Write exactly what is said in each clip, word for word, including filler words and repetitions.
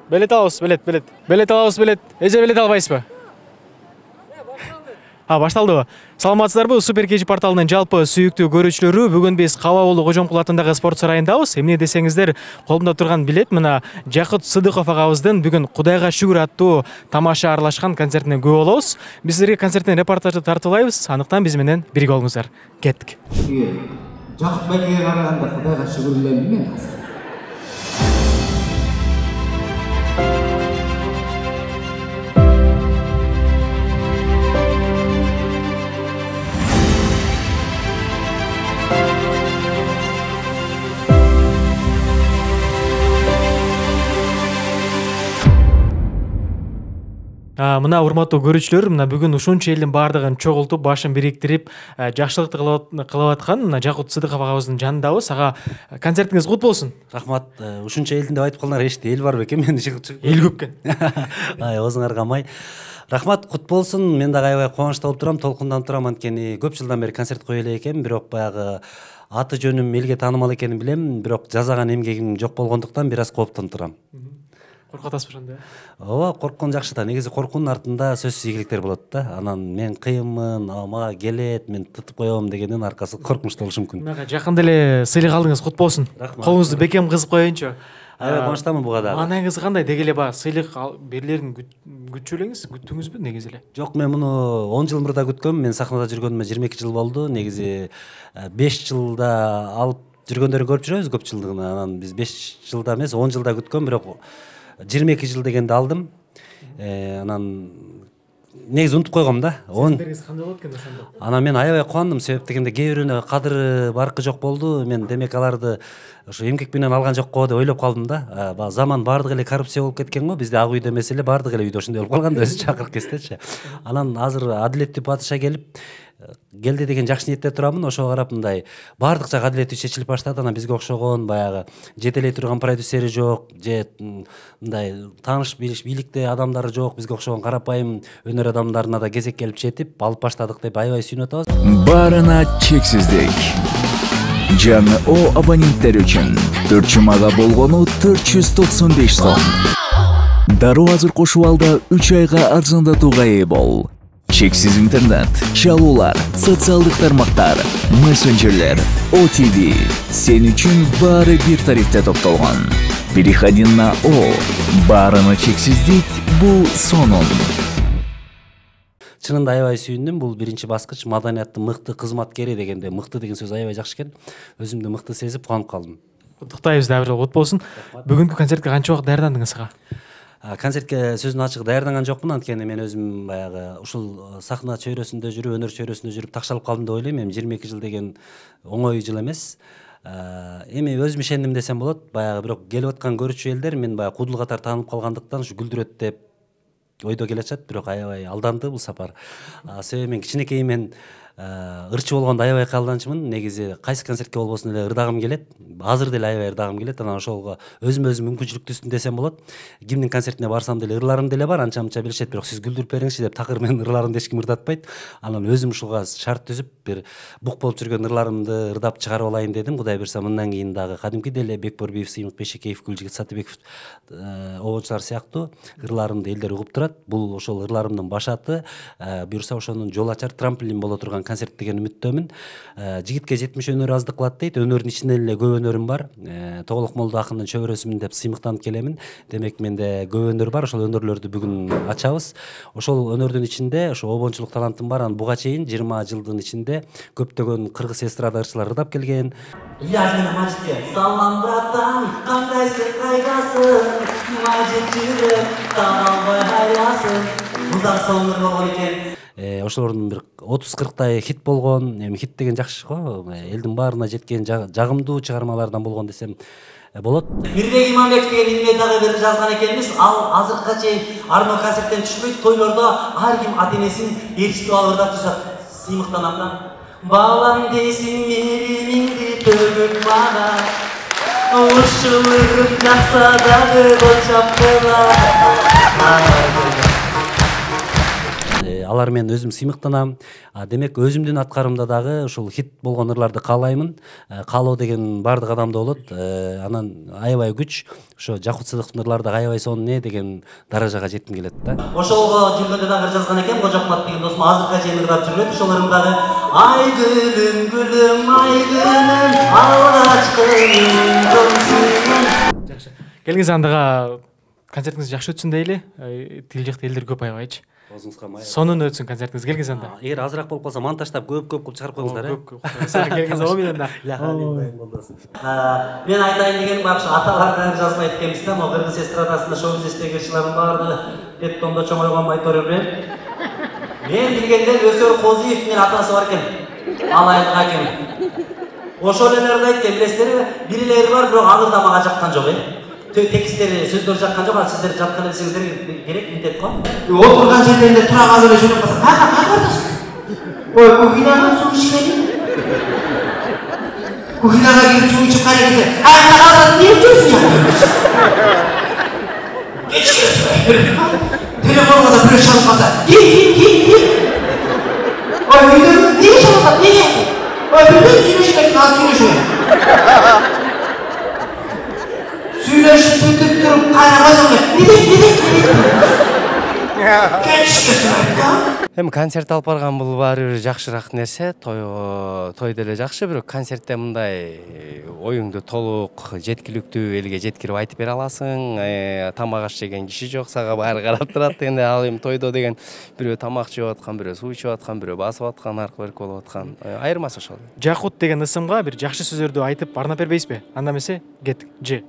Билет алабыз, билет, билет. Билет алабыз, билет. Эже билет албайсызбы? А, башталдыбы? Саламатсыздарбы? Супер Кечи порталынын жалпы сүйүктүү көрүүчүлөрү, бүгүн биз Кабаболду Кожомкул атындагы спорт сарайындабыз. Эмне десеңиздер, колумда турган билет мына Жакыт Сыдыков агабыздын бүгүн Кудайга шүгүр аттуу тамаша аралашкан концертине күбө болобуз. Биз силерге концерттен репортажды тартуулайбыз. Андыктан биз менен бирге болуңуздар. Кеттик. Жакыт байкеге караганда Кудайга шүгүрлөнүм мен азыр. Мына урматтуу көрүүчүлөр, мына бүгүн ушунча элдин баардыгын чогултуп, башын бириктирип, жакшылыкты кылып аткан мына Жакыт Сыдыков агабыздын жанындабыз. Ага концертиңиз кут болсун. Рахмат. Ушунча элдин деп айтып калдыңар, эшти эл бар бекен, мен чыгып чыгып. Эл көп экен. Ай, оозуңарга май. Рахмат, кут болсун. Мен дагы аябай кубанычта болуп турам, толкунданып турам, анткени көп жылдан бери концерт кое элек экенмин, бирок баягы аты жөнүм элге таанымал экенин билем, бирок жазаган эмгегим жок болгондуктан бир аз кооптонуп турам. Коркуп атасызбы ошондо? Ооба, корккон жакшы да. Негизи коркуунун артында сөзсүз ийгиликтер болот да. Анан мен кыйынмын, мага келет, мен тутуп коем дегендин аркасы коркунучтуу болушу мүмкүн. Мага жакында эле сыйлык алдыңыз, кут болсун. Колуңузду бекем кызып коеюнчу. Аябай кубанычтамын буга дагы. Маанайыңыз кандай? Деги эле баягы сыйлык берилерин күтчү элеңиз, күттүңүзбү негизи эле? Жок, мен муну он жыл мурда күткөм. Мен сахнада жүргөнүмө жыйырма эки жыл болду. Негизи беш жылда алып жүргөндөрүн көрүп жүрөбүз көпчүлүгүн. Анан биз беш жылда эмес, он жылда күткөм, бирок жыйырма эки жыл дегенди алдым. Анан негизи унутуп койгом да. Сиздерге кандай болот экен ошондо? Анан мен аябай кубандым, себеп дегенде кээ бирөөнө кадыры баркы жок болду. Мен демек аларды ошо эмгек менен алган жок го деп ойлоп калдым да. Заман баардык эле коррупция болуп кеткен го. Бизде ак үйдө эмес эле баардык эле үйдө ошондой болуп калган да, өзү чакырып кестечи. Анан азыр адилеттүү падыша келип келди деген жакшы ниетте турамын. Ошого карап мындай баардык жак адилеттүү чечилип баштады. Анан бизге окшогон баягы жетелей турган продюсери жок, же мындай тааныш билиш бийликте адамдары жок, бизге окшогон карапайым өнөр адамдарына да кезек келип жетип алып баштадык деп аябай сүйүнүп атабыз. Баарына чексиздик. Жаңы О абоненттер үчүн төрт жумага болгону төрт жүз токсон беш сом. Дароо азыр кошуп алда үч айга арзандатууга ээ бол. Чексиз интернет, чалуулар, социалдык тармактар, мессенджерлер, О Т В. Сен үчүн баары бир тарифте топтолгон. Переходи на О. Баарына чексиздик бул сонун. Чынында аябай сүйүндүм. Бул биринчи баскыч, маданияттын мыкты кызматкери дегенде мыкты деген сөз аябай жакшы экен. Өзүмдү мыкты сезип кубанып калдым. Куттуктайбыз дагы бир жолу, кут болсун. Бүгүнкү концертке канча убакыт даярдандыңыз ага? Концертке сөзүн ачык даярданган жокмун, анткени мен өзүм баягы ушул сахна чөйрөсүндө жүрүп, өнөр чөйрөсүндө жүрүп такшалып калдым деп ойлойм. Эми жыйырма эки жыл деген оңой жыл эмес. Эми өзүм ишендим десем болот. Баягы бирок келип аткан көрүүчү элдер мен баягы кудул катар таанып калгандыктан ушу күлдүрөт деп ойдо келатышат, бирок аябай алданды бул сапар. Себеби мен кичинекейимен ырчы болгондо аябай кыялданчумун. Негизи кайсы концертке болбосун эле ырдагым келет. Азыр деле аябай ырдагым келет. Анан ошого өзүм өзүм мүмкүнчүлүк түздүм десем болот. Кимдин концертине барсам деле ырларым деле бар, анча-мынча билишет, бирок сиз күлдүрүп бериңизчи деп такыр менин ырларымды эч ким ырдатпайт. Анан өзүм ушуга шарт түзүп, бир бук болуп жүргөн ырларымды ырдап чыгарып алайын дедим. Кудай буйрса мындан кийин дагы кадимкидей эле Бекборбиев, Сыймык Бешекеев, Гүлжигит Сатыбеков обочулар сыяктуу ырларымды элдер угуп турат. Бул ошол ырларымдын башаты. Буйрса ошонун жол ачар, трамплин боло турган концерт деген үмүттөмүн. Жигитке жетимиш өнөр аздык кылат дейт. Өнөрдүн ичинен эле көп өнөрүм бар. Тоголок Молдо акындын чөбөрөсүмүн деп сыймыктанып келемин. Демек менде көп өнөр бар. Ошол өнөрлөрдү бүгүн ачабыз. Ошол өнөрдүн ичинде ошо обончулук талантым бар. Анан буга чейин жыйырма жылдын ичинде көптөгөн кыргыз эстрада ырчылар ырдап келген. Язмин Мажитке салам братан, кандайсың, кайдасың? Мажит жүрөк таалбай аясын. Мындан соң болгон экен. Ошолордун бир отуз кырктай хит болгон. Эми хит деген жакшы го. Элдин баарына жеткен жагымдуу чыгармалардан болгон десем болот. Мирбек Иманбеков деген инме дагы бир жазган экенбиз. Ал азыркыга чейин арно концерттен түшпөйт. Тойлордо ар ким ата-энесин ээрчитип алып ырдап турса, сыймыктанам да. Балам дейсиң мээримиңди төгүп мага. Ушулугум жакса дагы болчап кала. алар менен өзүм сыймыктанам. Демек өзүмдүн аткарымда дагы ушул хит болгон ырларды каалаймын. Каалоо деген бардык адамда болот. Анан аябай күч ошо Жакут Сыдыктын ырлары дагы аябай сонун э деген даражага жетким келет да. Ошолго жүргөндө дагы жазган экен, Кожокмат деген досум азыркыга чейин ырлап жүрөт. Ошолордун дагы ай гүлүм гүлүм ай гүлүм алгачкы жолсуң. Жакшы. Келиңиз андага концертиңиз жакшы өтсүн дейли. Тил жакта элдер көп аябайчы. Өзүңүзгө май. Сонун өтсүн концертиңиз. Келиңиз анда. Эгер азыраак болуп калса монтаждап көп-көп кылып чыгарып коюңуздар э. Келиңиз о менен да. Мен айтайын дегеним бакшы аталарга жазбайт экенбиз да, могу кыргыз эстрадасында шоу бизнестеги кишилердин баардыгы беттондо чоңойгон айтор берет. Мен билгенден Өсөр Козиевдин атасы бар экен. Алайык аким. Ошол элерди айткен, билесиздерби? Бирилери бар, бирок алыр да мага жаккан жок э. Текстleri, сөздөр жаккан жок, а сиздер жаккан элесиңиздер керек милдет го. Отурган жерлеринде тура калып эле жүрүп калса, кайга кайгырдасың? Ой, кухнядан суу ичпедиң. Кухняга кирип суу ичип кайра келсе, кайга калдың, эмне жүрсүң ya? Кечиресиң. Телефонго да бирөө чалып калса, ким, ким, ким, ким? Ой, үйдө эмне чалып атат, эмне? Ой, билбейм, сүйлөшпөйт, азыр сүйлөшөйүн. Сүйлөшүп бүтүп туруп кайра койсоң, не дейт, не дейт, не дейт? Кечкесин айткан. Эми концерт алып барган бул баары бир жакшыраак нерсе. Той той деле жакшы, бирок концертте мындай оюңду толук, жеткиликтүү элге жеткирип айтып бере аласың. Тамак аш жеген киши жок, сага баары карап турат дегенде, ал эми тойдо деген бирөө тамак жеп аткан, бирөө суу ичип аткан, бирөө басып аткан, аркы-берки болуп аткан. Айырмасы ошол. Жакут деген ысымга бир жакшы сөздөрдү айтып арнап бербейсизби? Анда эмесе, кеттик. Ж.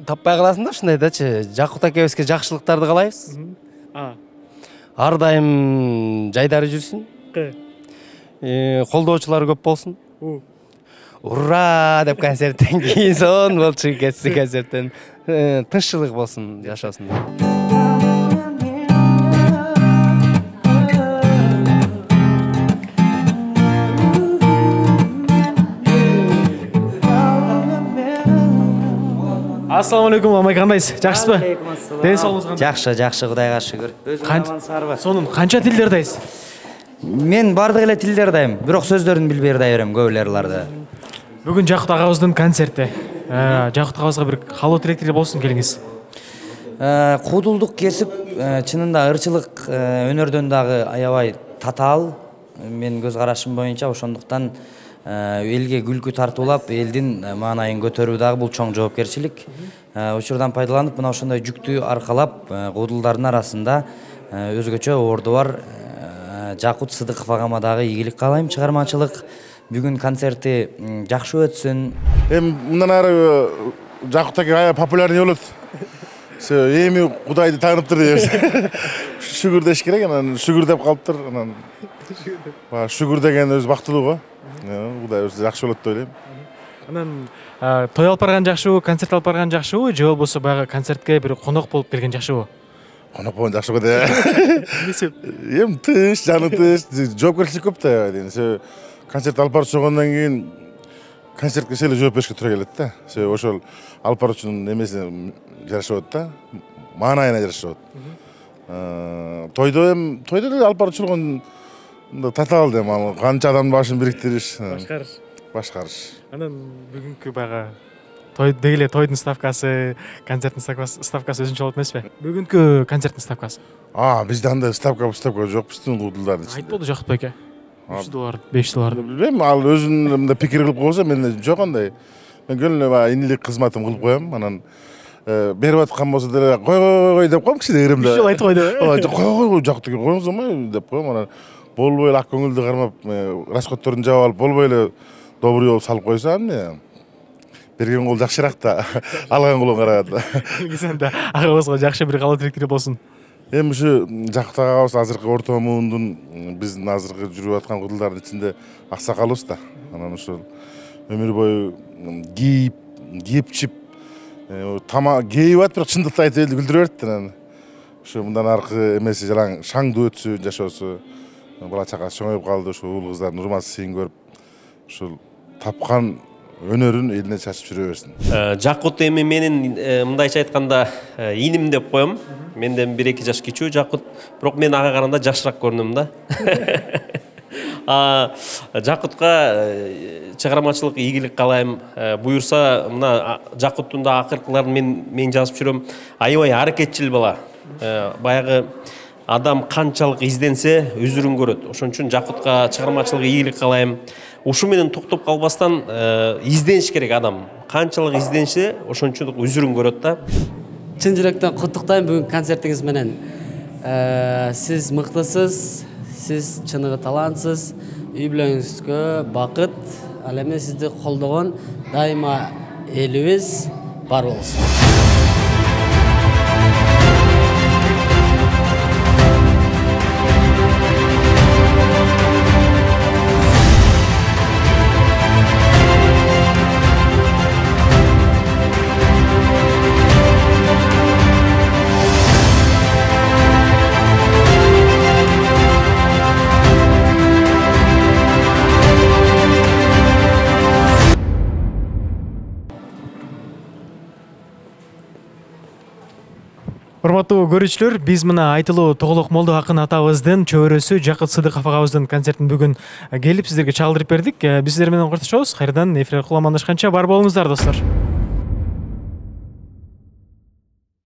Таппай каласың да ушундайдачы. Жакут акебизге жакшылыктарды каалайбыз. Ар дайым жайдары жүрсүн. Колдоочулары көп болсун. Ура деп концерттен кийин сон болчу кетси концерттен. Тынччылык болсун, жашоосун. Ассаламу алейкум, амай кандайсыз? Жакшысызбы? Ден соолугуңуз кандай? Жакшы, жакшы, Кудайга шүгүр. Өзүңүз сонун канча тилдерди айсыз? Мен бардык эле тилдерди айым, бирок сөздөрүн билбей ырдай берем, көбүлөрүларды. Бүгүн Жакут агабыздын концерти. Жакут агабызга бир каалоо тилектер болсун, келиңиз. Куудулдук кесип, чынында ырчылык өнөрдөн дагы аябай татаал. Мен көз карашым боюнча ошондуктан элге күлкү тартуулап, элдин маанайын көтөрүү дагы бул чоң жоопкерчилик. Учурдан пайдаланып, мына ошондой жүктү аркалап, куудулдардын арасында өзгөчө орду бар Жакут Сыдыков агама дагы ийгилик каалайм, чыгармачылык. Бүгүн концерти жакшы өтсүн. Эми мындан ары Жакут аке аябай популярный болот. Эми Кудайды тааныптыр деп. Шүгүр деш керек, анан шүгүр деп калыптыр, анан шүгүр деген өзү бактылуу го. Кудай өзү жакшы болот деп ойлойм. Анан той алып барган жакшыбы, концерт алып барган жакшыбы, же болбосо баягы концертке бир конок болуп келген жакшыбы? Конок болгон жакшы го да. Эмне? Эми тыш, жаны тыш, жоопкерчилик көп да. Концерт алып барып чыггандан кийин концертке эле жооп беришке туура келет да. Себеби ошол алып баруучунун эмесине жарашып атат да, маанайына жарашып атат. Тойдо эми тойдо эле алып баруучулугун татаал дейм, ал канча адамдын башын бириктириш, башкарыш. Башкарыш. Анан бүгүнкү баягы той дегеле тойдун ставкасы, концерттин ставкасы өзүнчө болот эмеспи? Бүгүнкү концерттин ставкасы. А, бизде андай ставка, ставка жок, биздин куудулдардын ичинде. Айтподу Жакут байке. үч доллар, беш доллар. Билбейм, ал өзүнүн мындай пикир кылып койсо, мен жок андай. Мен көлүнө баягы инилик кызматым кылып коем, анан берип аткан болсо деле кой кой деп коем кичине эримде. Үч жолу айтып койду. Ооба, кой кой Жакут эке коюңуз оңой деп коем, анан болбой эле ак көңүлдү кармап, расходторун жаап алып, болбой эле добрый болуп салып койсо, эмне? Берген кол жакшыраак да, алган колго караганда. Келгизенде агабызга жакшы бир каалоо тилектери болсун. Эми ушу Жакут агабыз азыркы орто муундун биздин азыркы жүрүп аткан куудулдардын ичинде аксакалыбыз да. Анан ошол өмүр бою кийип, кепчип, тамак кээп атып, бирок чындыкты айтып элди күлдүрө берет да. Анан ушу мындан аркы эмеси жалаң шаңдуу өтсүн, жашоосу. Бала чакасы чоңоюп калды, ушу уул кыздардын урмат сыйын көрүп, ушул тапкан өнөрүн элине чачып жүрө берсин. Жакут эми менин мындайча айтканда иним деп коем. Менден бир эки жаш кичүү Жакут, бирок мен ага караганда жашыраак көрүнөм да. Жакутка чыгармачылык ийгилик каалайм. Буюрса, мына Жакуттун да акыркыларын мен мен жазып жүрөм. Аябай аракетчил бала. Баягы адам канчалык изденсе өзүрүн көрөт. Ошон үчүн Жакутка чыгармачылык ийгилик каалайм. Ушу менен токтоп калбастан издениш керек адам. Канчалык изденсе, ошон үчүн өзүрүн көрөт да. Чын жүрөктөн куттуктайм бүгүнкү концертиңиз менен. Сиз мыктысыз, сиз чыныгы талантсыз, үй бүлөңүзгө бакыт, ал эми сизди колдогон дайыма элибиз бар болсун. Урматтуу көрүүчүлөр, биз мына айтылуу Тоголок Молдо акын атабыздын чөбөрөсү Жакут Сыдыков агабыздын концертин бүгүн келип сиздерге чалдырып бердик. Биз сиздер менен коштошобуз. Кайрадан эфир аркылуу амандашканча бар болуңуздар, достор.